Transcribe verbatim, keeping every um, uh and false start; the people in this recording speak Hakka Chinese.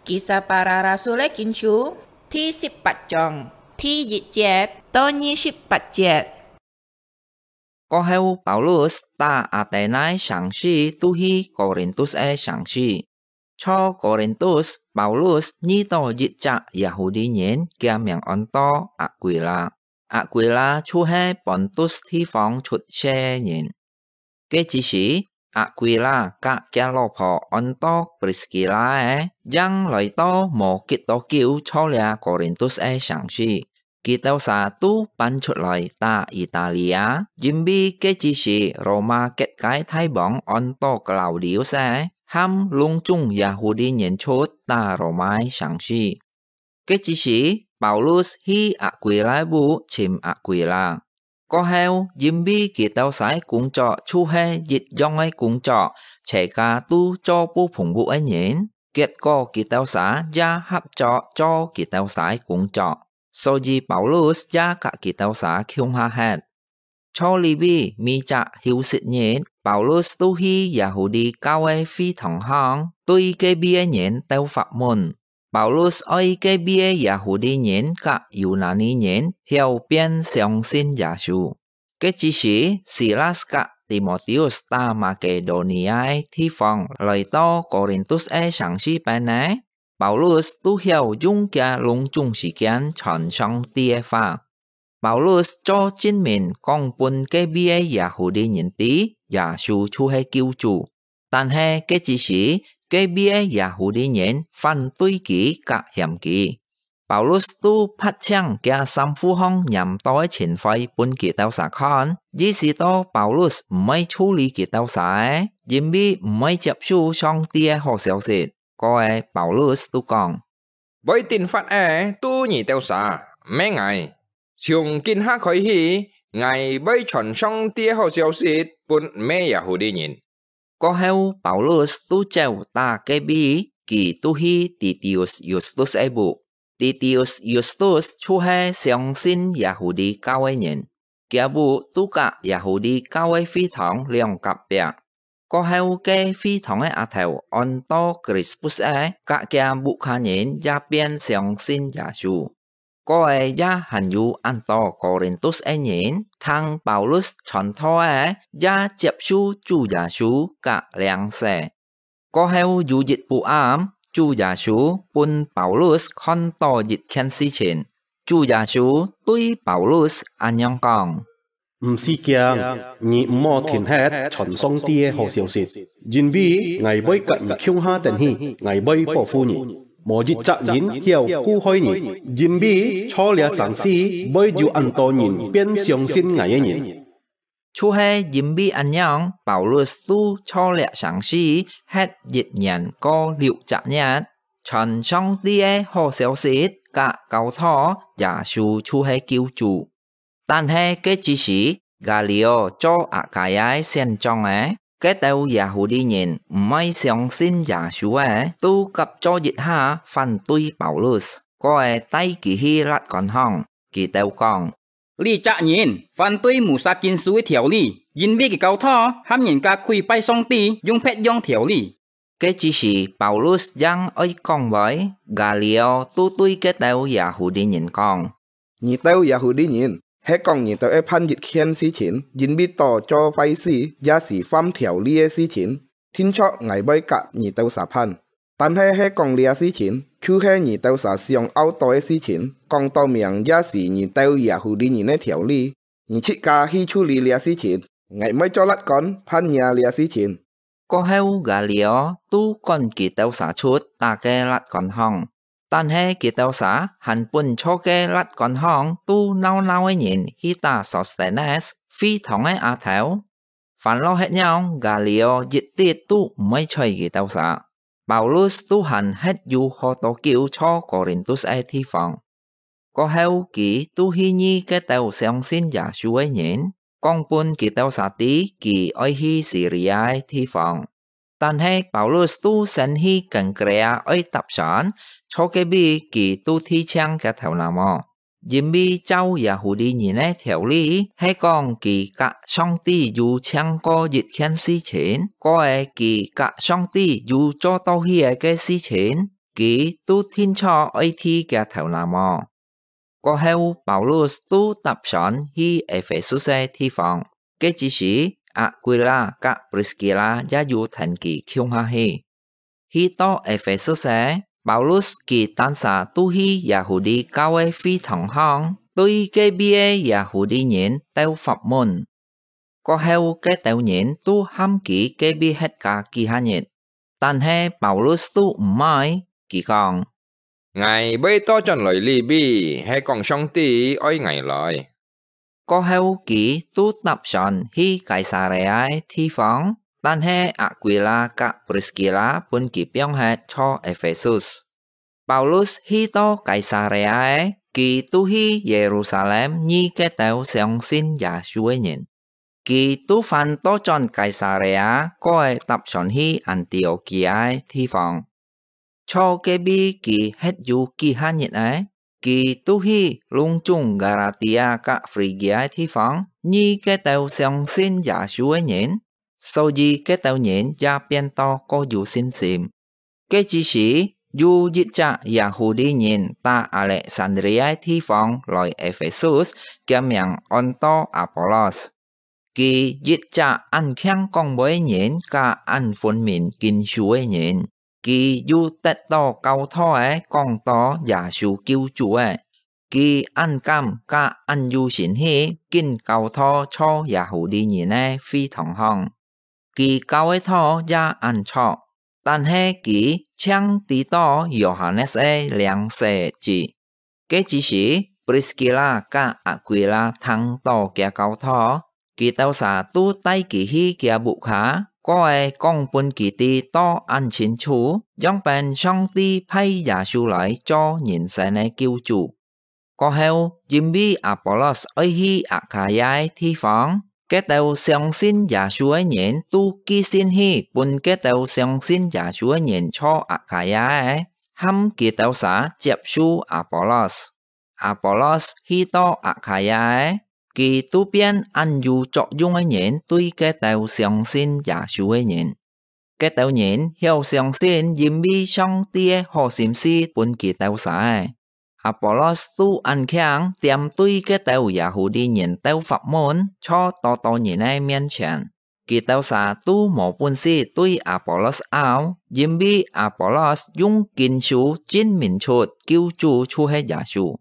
Kisah Para Rasul-é Kinsú，第十八章，第一節到二十八節。過後，Paulus打Athenai城市，渡去Korintus个城市。在Korintus，Paulus遇到一隻Yahudi人，厥名安到Aquila。Aquila就係Pontus地方出世个人。 該之時，Aquila佮厥老婆安到Priskila个，正來到無幾多久，在這Korintus个城市。佢兜儕都搬出來打Italia，因為該之時羅馬結界大王安到Claudius个，喊攏總Yahudi人出打羅馬个城市。 該之時，Paulus去Aquila屋尋Aquila。過後，因為佢兜儕工作就係一樣个工作，齊家都做布篷屋个人，結果佢兜儕也合作做佢兜儕工作，所以Paulus也佮佢兜儕共下歇。 在這位每隻休息日，Paulus都去Yahudi教會个會堂項，對該位个人鬥法問。Paulus愛該位个Yahudi人佮Yunani人曉變相信耶穌。該之時，Silas佮Timotheus打Makedonia个地方，來到Korintus个城市邊呢，Paulus都曉用厥攏總時間傳上帝个話。 Paulus做證明講分該位个Yahudi人知，耶穌就係救主。但係該之時，該位个Yahudi人反對佢佮嫌佢。Paulus都拍請厥衫褲項黏到个塵灰分佢兜儕看，意思到Paulus毋會處理佢兜儕个，因為毋會接受上帝个好消息。過後Paulus都講： 會定法个都你兜儕，毋係𠊎。從今下開始，𠊎會傳上帝个好消息分毋係Yahudi人。過後，Paulus都走打該位，佢都去Titius Justus个屋。Titius Justus就係相信Yahudi教个人，厥屋都佮Yahudi教个會堂兩隔壁。 過後，該會堂个阿頭安到Crispus个，佮厥屋下人也變相信耶穌。過後也還有恁多Korintus个人，聽Paulus傳道个，也接受主耶穌佮領洗。過後有一晡暗，主耶穌分Paulus看到一件事情。主耶穌對Paulus恁樣講： 毋使驚，你毋好停歇傳上帝个好消息，因為𠊎會佮你共下等去，𠊎會保護你。無一隻人曉跍害你，因為在這城市會有恁多人變相信𠊎个人。就係因為恁樣，Paulus都在這城市歇一年過六隻月，傳上帝个好消息佮教導耶穌就係救主。 但係該之時，Galio做Akaya个縣長个，該兜Yahudi人毋愛相信耶穌个，都合作一下反對Paulus，過後帶佢去律官項。佢兜講：這隻人反對Musa經書个條理，因為佢教導喊人家跪拜上帝用別樣條理。 該之時，Paulus正愛講話，Galio都對該兜Yahudi人講：你兜Yahudi人，係講你兜愛辦一件事情，因為到做壞事，也係犯條例个事情，定著𠊎會佮你兜儕辦。但係係講這事情，就係你兜儕想拗到个事情，講到明也係你兜Yahudi人个條例。你自家去處理這事情，𠊎毋會做律官判若這事情。 過後，Galio都趕佢兜儕出打該律官項。但係佢兜儕還分在該律官項都鬧鬧个人去打Sostenes，會堂个阿頭。煩惱忒樣，Galio一滴都毋會睬佢兜儕。Paulus都還歇有好多久在Korintus个地方。 過後，佢都去遇該兜相信耶穌个人，講分佢兜儕知佢愛去Siria个地方。但係Paulus都先去Kenkrea愛搭船，在該位佢都剃淨厥頭那毛，因為照Yahudi人个條例，係講佢佮上帝有簽過一件事情，過後佢佮上帝有做到去个該事情，佢都定著愛剃厥頭那無？過後，Paulus都搭船去Ephesus个地方，該之時Aquila佮Priskila也有跈佢共下去。去到Ephesus个，Paulus佢單儕都去Yahudi教个會堂項，對該位个Yahudi人鬥發問。過後，該兜人都喊佢隔壁歇加幾下日，但係Paulus都毋愛，佢講：「𠊎會倒轉來這位，係講上帝愛𠊎來。」過後，佢都搭船去該撒利亞个地方，但係Aquila佮Priskila分佢放忒在Ephesus。Paulus去到該撒利亞个，佢都去耶路撒冷遇該兜相信耶穌个人。佢都還倒轉該撒利亞，過仔搭船去安提阿基亞个地方。在該位佢歇有幾下日仔，佢都去攏總加拉底亞佮Phrygia个地方，遇該兜相信耶穌个人，所以該兜人也變到過有信心。該之時，有一隻Yahudi人打Alexandria个地方來Ephesus，厥名安到Apollos。佢一隻恁慶講話个人，佮恁分明經書个人，佢有得到教導个講道耶穌救主个，佢恁敢佮恁有信心，緊教導在Yahudi人个會堂項。佢教个道也恁著，但係佢淨知道Yohanes个領洗个職。該之時，Priskila佮Aquila聽到厥教導，佢兜儕都帶佢去厥屋下，過仔講分佢知到恁清楚，仰般上帝派耶穌來做人生个救主。過後，因為Apollos愛去Akhaya个地方，該兜相信耶穌个人都寄信去分該兜相信耶穌个人在Akhaya个，喊佢兜儕接受Apollos。Apollos去到Akhaya个，佢都變恁有作用个人對該兜相信耶穌个人。該兜人曉相信，因為上帝个好心思分佢兜儕个。Apollos都恁慶，恬對該兜Yahudi人兜發問，在多多人个面前。佢兜儕都無本事對Apollos拗，因為Apollos用經書證明出救主就係耶穌。